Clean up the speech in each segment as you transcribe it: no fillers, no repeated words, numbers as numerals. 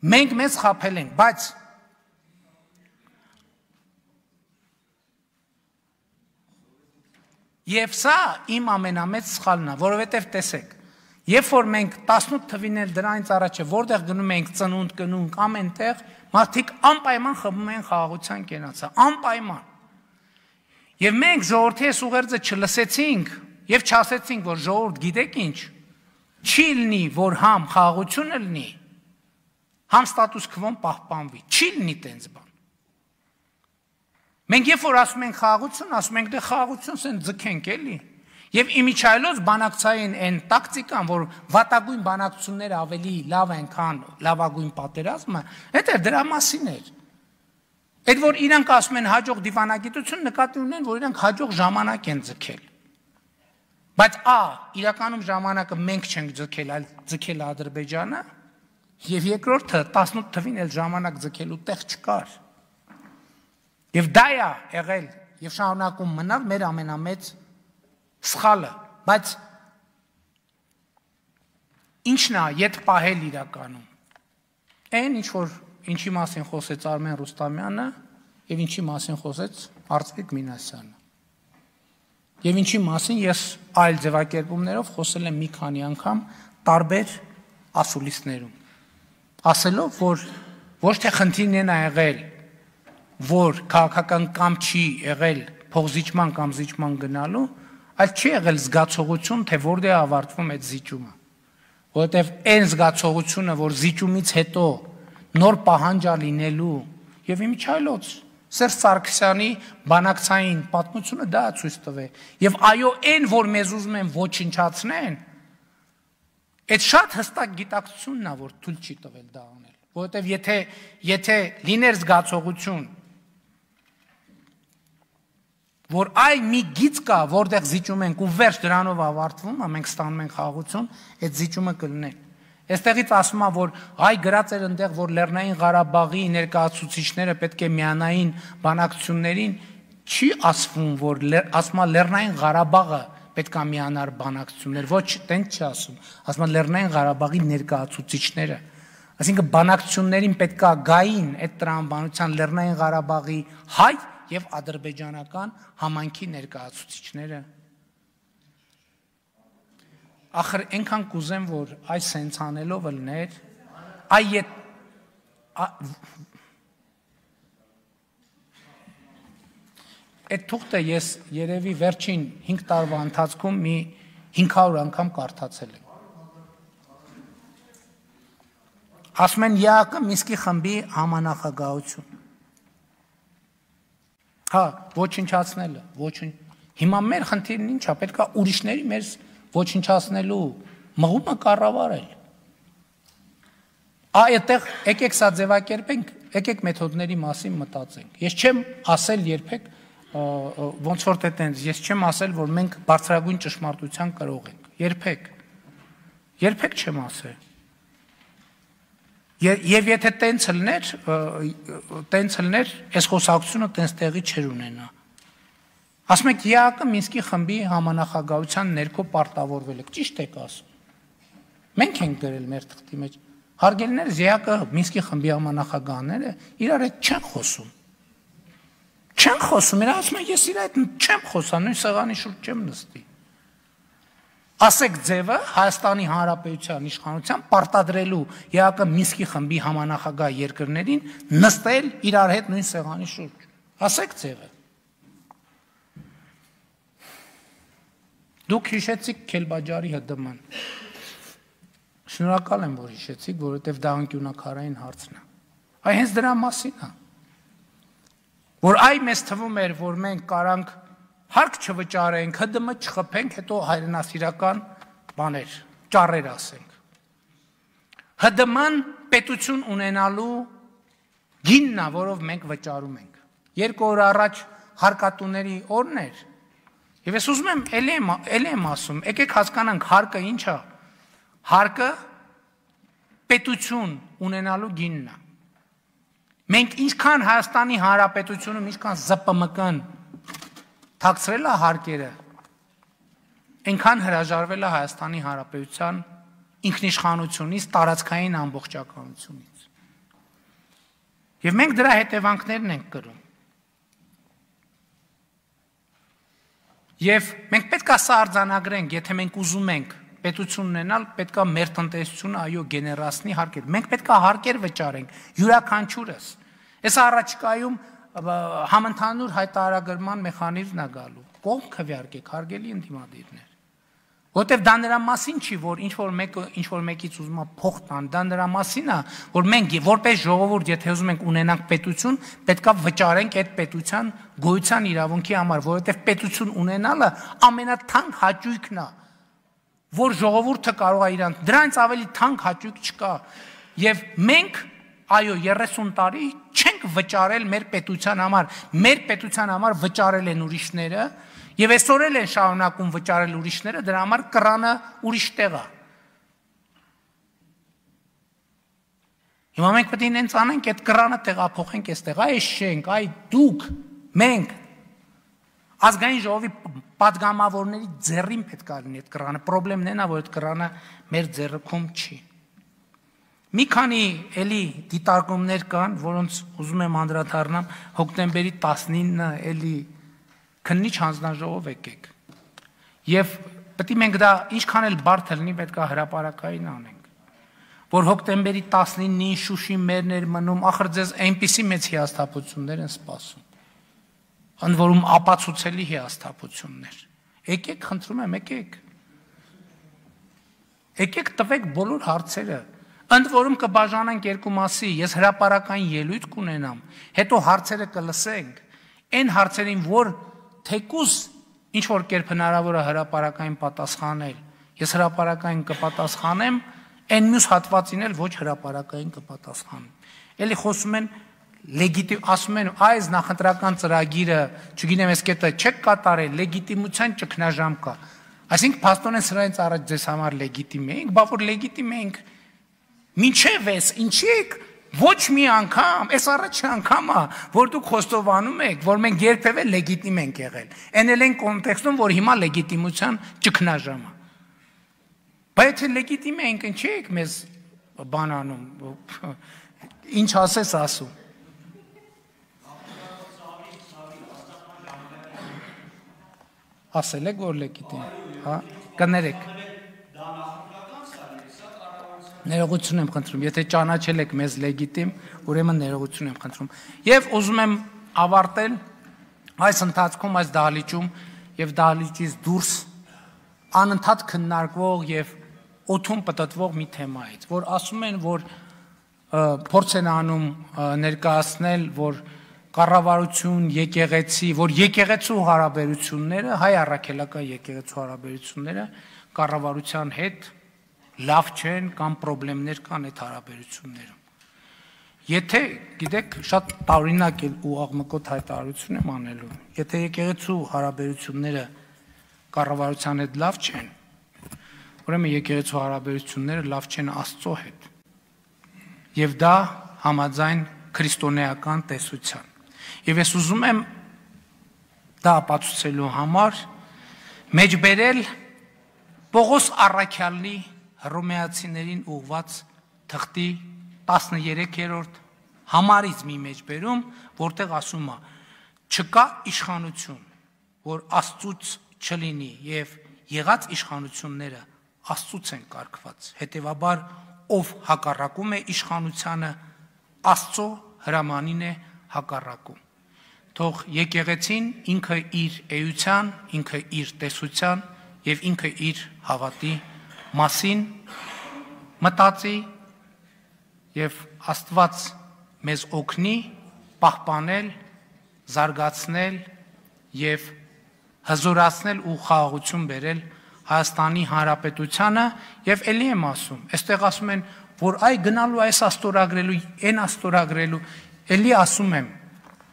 Մենք մեզ խաբել ենք, բայց եւ սա իմ ամենամեծ սխալն է, որովհետեւ տեսեք, երբ որ մենք 18 թվին էլ դրանից առաջ որտեղ գնում ենք ծնունդ կնունք ամենտեղ, մարդիկ անպայման խմում են խաղաղության կենացը, անպայման։ Եվ մենք ժողովրդի այս ուղերձը չլսեցինք եւ չասեցինք, որ ժողովուրդ գիտեք ինչ, չի լինի, որ համ խաղաղությունը լինի, համ ստատուս քվոն պահպանվի, չի լինի տենց բան։ Մենք երբ որ ասում ենք խաղաղություն, ասում ենք դե խաղաղություն սեն ձգենք էլի։ Եվ իմիջայլոց բանակցային այն տակտիկան, որ վատագույն բանակցությունները ավելի լավ են, քան լավագույն պատերազմը, դա դրա մասին էր։ Այդ որ իրանք ասում են հաջող դիվանագիտություն, նկատի ունեն, որ իրանք հաջող ժամանակ են ձգել։ Բայց իրականում ժամանակը մենք չենք ձգել, այլ ձգել Ադրբեջանը, եւ երկրորդը 18 թվին էլ ժամանակ ձգելու տեղ չկար։ Եվ դա է եղել եւ շարունակում մնալ մեր ամենամեծ սխալը, բայց ինչն է ետ պահել իրականում։ Այն ինչի մասին խոսեց Արմեն Ռուստամյանը եւ ինչի մասին խոսեց Արծվիկ Մինասյանը։ Եվ ինչի մասին ես այլ ձևակերպումներով խոսել եմ մի քանի անգամ տարբեր ասուլիսներում, ասելով, որ ոչ թե խնդիրն է եղել, որ քաղաքական կամ չի եղել փոխզիջման կամ զիջման գնալու, այլ չի եղել զգացողություն, թե որտեղ է ավարտվում այդ զիջումը։ Որովհետև այն զգացողությունը, որ զիջումից հետո նոր պահանջ է լինելու, եւ իմիջայլոց Սերժ Սարգսյանի բանակցային պատմությունը դա է ցույց տվել։ Եվ այո, այն, որ մեզ ուզում են ոչնչացնեն, այդ շատ հստակ գիտակցությունն է, որ թույլ չի տվել դա անել։ Որովհետև եթե լիներ զգացողություն, որ այ մի գիծ կա, որտեղ զիջում ենք ու վերջ դրանով ավարտվում, մենք ստանում ենք խաղաղություն, այդ զիջումը կլինենք։ Այստեղից ասում եմ, որ այ գրած էր այնտեղ, որ Լեռնային Ղարաբաղի ներկայացուցիչները պետք է միանային բանակցություններին, չի ասվում, որ ասում է Լեռնային Ղարաբաղը պետք է միանար բանակցություններ, ոչ տենց չի ասում, ասում է Լեռնային Ղարաբաղի ներկայացուցիչները, այսինքն բանակցություններին պետք է գային այդ տրամաբանության Լեռնային Ղարաբաղի հայ եւ ադրբեջանական համայնքի ներկայացուցիչները։ Ախր այնքան կուզեմ, որ այս սենց անելով լներ, այդ թուղթը ես երևի վերջին 5 տարվա ընթացքում մի 500 անգամ կարդացել եմ։ Ասում են ԵԱԿ Մինսկի խմբի համանախագահություն։ Ոչնչացնելը, հիմա մեր խնդիրն ինչ է, պետք է ուրիշների մեր ոչնչացնելու մղումը կառավարել։ Այդտեղ եկեք սա ձևակերպենք, եկեք մեթոդների մասին մտածենք։ Ես չեմ ասել երբեք, ոնց որ թե տենց, ես չեմ ասել, որ մենք բարձրագույն ճշմարտության կրող ենք։ Երբեք չեմ ասել։ Եվ եթե տենց լներ, այս խոսակցությունը տենց տեղի չեր ունենա։ Ասում եք ԵԱԿ Մինսկի խմբի համանախագահության ներքո պարտավորվել եք, ճիշտ եք ասում։ Մենք ենք գրել մեր թղթի մեջ, հարգելիներս ԵԱԿ Մինսկի խմբի համանախագահները իրար հետ չեն խոսում։ Չեն խոսում, իրար ասում են ես իր հետ չեմ խոսա, նույն սեղանի շուրջ չեմ նստի։ Ասեք ձևը Հայաստանի Հանրապետության իշխանության պարտադրելու ԵԱԿ Մինսկի խմբի համանախագահ երկրներին նստել իրար հետ նույն սեղանի շուրջ։ Ասեք ձևը։ Դուք հիշեցիք Քելբաջարի ՀԴՄ-ն։ Շնորհակալ եմ, որ հիշեցիք, որովհետև դա անկյունակարային հարցն է։ Այ հենց դրա մասին է։ Որ այ մեզ թվում էր, որ մենք կարանք հարկ չվճարենք, ՀԴՄ չխփենք, հետո հայրենասիրական բաներ, ճառեր ասենք։ ՀԴՄ-ն պետություն ունենալու գինն է, որով մենք վճարում ենք։ 2 օր առաջ հարկատուների օրն էր։ Եվ ես ուզում եմ, էլի եմ ասում, եկեք հասկանանք հարկը ինչ է։ Հարկը պետություն ունենալու գինն է։ Մենք ինչքան Հայաստանի Հանրապետությունում, ինչքան ԶՊՄԿ-ն թաքցրել է հարկերը, այնքան հրաժարվել է Հայաստանի Հանրապետության ինքնիշխանությունից, տարածքային ամբողջականությունից։ Եվ մենք դրա հետևանքներն ենք կրում։ Եվ մենք պետք է սա արձանագրենք, եթե մենք ուզում ենք պետություն ունենալ, պետք է մեր տնտեսությունը այո գեներացնի հարկեր։ Մենք պետք է հարկեր վճարենք յուրաքանչյուրս։ Այս առաջիկայում համընդհանուր հայտարարագրման մեխանիզմն է գալու։ Կողմ քվեարկեք, հարգելի ընդդիմադիրներ։ Որտեվ դա նրա մասին չի, որ ինչ որ մեկից ուզում է փող տան, դա նրա մասին է, որ մենք որպես ժողովուրդ, եթե ուզում ենք ունենանք պետություն, պետքա վճարենք այդ պետության գոյության իրավունքի համար, որովհետև պետություն ունենալը ամենաթանկ հաճույքն է, որ ժողովուրդը կարող է իրան, դրանից ավելի թանկ հաճույք չկա։ Եվ մենք այո 30 տարի չենք վճարել մեր պետության համար վճարել են ուրիշները, եւ այսօր էլ են շարունակում վճարել ուրիշները, դրա համար կռանը ուրիշ տեղ է։ Հիմա մենք պետք է ինձ անենք այդ կռանը տեղափոխենք այստեղ, այ շենք, այ դուք, մենք ազգային ժողովի պատգամավորների ձեռին պետք է լինի այդ կռանը, խնդրեմն այն է, որ այդ կռանը մեր ձեռքում չի։ Մի քանի էլի դիտարկումներ կան, որոնց ուզում եմ անդրադառնամ, հոկտեմբերի 19-ը էլի քննիչ հանձնաժողով եկեք։ Եվ պետք է մենք դա ինչքան էլ բարդ լինի, պետք է հրապարակային անենք։ Որ հոկտեմբերի 19-ին Շուշի մերն էր մնում, ախր ձեզ այնպիսի մեծ հիասթափություններ են սպասում։ Ընդ որում ապացուցելի հիասթափություններ։ Եկեք, խնդրում եմ, եկեք։ Եկեք տվեք բոլոր հարցերը։ Ընդ որում կբաժանենք երկու մասի, ես հրապարակային ելույթ կունենամ, հետո հարցերը կլսենք, այն հարցերին, որ թեկուզ ինչ որ կերպ հնարավոր է հրապարակային պատասխանել, ես հրապարակային կպատասխանեմ, այն մյուս հատվածին էլ ոչ հրապարակային կպատասխանեմ։ Էլի խոսում են ասում են այս նախընտրական ծրագիրը, չգիտեմ, այս կետը չեք կատարել, լեգիտիմության ճգնաժամ կա։ Այսինքն փաստորեն սրանից առաջ ձեզ համար լեգիտիմ էինք, բա որ լեգիտիմ էինք մինչև էս, ինչի եք ոչ մի անգամ, այս առաջի անգամը, որ դուք խոստովանում եք, որ մենք երբևէ լեգիտիմ ենք եղել։ Այն էլ են կոնտեքստում, որ հիմա լեգիտիմության ճգնաժամը։ Բայց եթե լեգիտիմ ենք, ինչի եք մեզ բանանում, ինչ ասես ասում։ Ասել եք, որ լեգիտիմ, հա, կներեք։ Ներողություն եմ խնդրում, եթե ճանաչել եք մեզ լեգիտիմ, ուրեմն ներողություն եմ խնդրում։ Եվ ուզում եմ ավարտել այս ընթացքում, այս դահլիճում եւ դահլիճից դուրս անընդհատ քննարկվող եւ օդում պտտվող մի թեմայից, որ ասում են, որ փորձ են անում ներկայացնել, որ կառավարություն, եկեղեցի, որ եկեղեցու հարաբերությունները, հայ առաքելական եկեղեցու հարաբերությունները կառավարության հետ լավ չեն կամ խնդիրներ կան այդ հարաբերություններում։ Եթե, գիտեք, շատ տարօրինակ ու աղմկոտ հայտարարություն եմ անելու, եթե եկեղեցու հարաբերությունները կառավարության հետ լավ չեն, ուրեմն եկեղեցու հարաբերությունները լավ չեն Աստծո հետ։ Եվ դա համաձայն քրիստոնեական տեսության։ Եվ ես ուզում եմ դա ապացուցելու համար մեջբերել Պողոս Առաքյալի հռոմեացիներին ուղված թղթի 13-րդ համարից մի մեջբերում, որտեղ ասում է. չկա իշխանություն, որ Աստծուց չլինի, եւ եղած իշխանությունները Աստծուց են կարգված։ Հետևաբար ով հակառակում է իշխանությանը, Աստծո հրամանին է հակառակում։ Թող եկեղեցին ինքը իր էության, ինքը իր տեսության եւ ինքը իր հավատի մասին մտածի եւ Աստված մեզ օգնի պահպանել, զարգացնել եւ հզորացնել ու խաղաղություն բերել Հայաստանի Հանրապետությանը եւ ելի եմ ասում, այստեղ ասում են, որ այ գնալու այս աստորագրելու, այն աստորագրելու, ելի ասում եմ,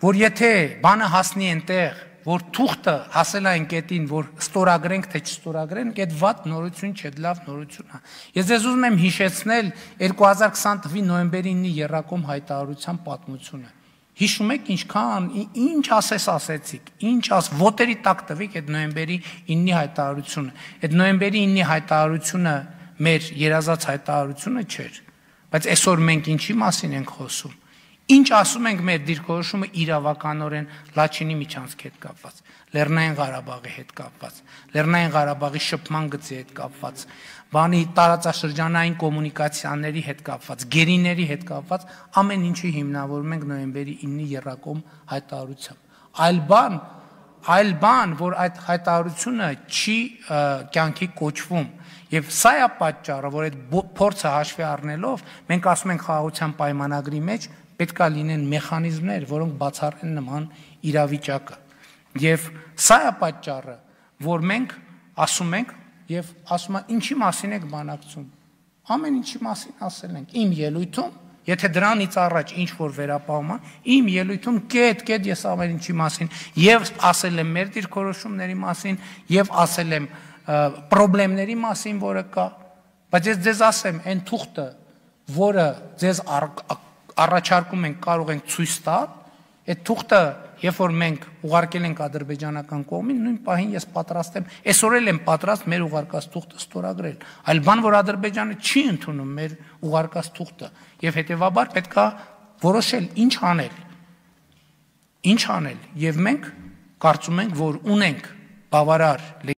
որ եթե բանը հասնի այնտեղ, որ թուղթը հասել է այն կետին, որ ստորագրենք թե չստորագրենք, այդ վատ նորություն չէ, լավ նորություն է։ Ես ձեզ ուզում եմ հիշեցնել 2020 թվականի նոյեմբերի 9-ի եռակոմ հայտարարության պատմությունը։ Հիշում եք ինչքան, ինչ ասեցիք, ինչ ոտերի տակ տվիք այդ նոյեմբերի 9-ի հայտարարությունը։ Այդ նոյեմբերի 9-ի հայտարարությունը մեր երազած հայտարարությունը չէր, բայց այսօր մենք ինչի մասին ենք խոսում։ Ինչ ասում ենք մեր դիրքորոշումը իրավականորեն Լաչինի միջանցքի հետ կապված, Լեռնային Ղարաբաղի հետ կապված, Լեռնային Ղարաբաղի շփման գծի հետ կապված, բանի տարածաշրջանային կոմունիկացիաների հետ կապված, գերիների հետ կապված, ամեն ինչի հիմնավորում ենք նոյեմբերի 9-ի եռակոմ հայտարարությամբ։ Այլ բան, որ այդ հայտարարությունը չի կյանքի կոչվում, եւ սա է պատճառը, որ այդ փորձը հաշվի առնելով, մենք ասում ենք խաղաղության պայմանագրի մեջ պետք է լինեն մեխանիզմներ, որոնք բացառեն նման իրավիճակը։ Եվ սա է պատճառը, որ մենք ասում ենք եւ ասում ենք ինչի մասին եք բանակցում։ Ամեն ինչի մասին ասել ենք։ Իմ ելույթում, եթե դրանից առաջ ինչ որ վերապահում է, իմ ելույթում կետ ես ամեն ինչի մասին եւ ասել եմ մեր դիրքորոշումների մասին եւ ասել եմ պրոբլեմների մասին, որը կա, բայց ես ձեզ ասեմ, այն թուղթը, որը ձեզ առաջարկում ենք, կարող ենք ցույց տալ, այդ թուղթը, երբ որ մենք ուղարկել ենք ադրբեջանական կողմին, նույն պահին ես պատրաստ եմ, այսօր էլ եմ պատրաստ մեր ուղարկած թուղթը ստորագրել, այլ բան, որ Ադրբեջանը չի ընդունում մեր ուղարկած թուղթը, եւ հետեւաբար պետք է որոշել ինչ անել, եւ մենք կարծում ենք, որ ունենք բավարար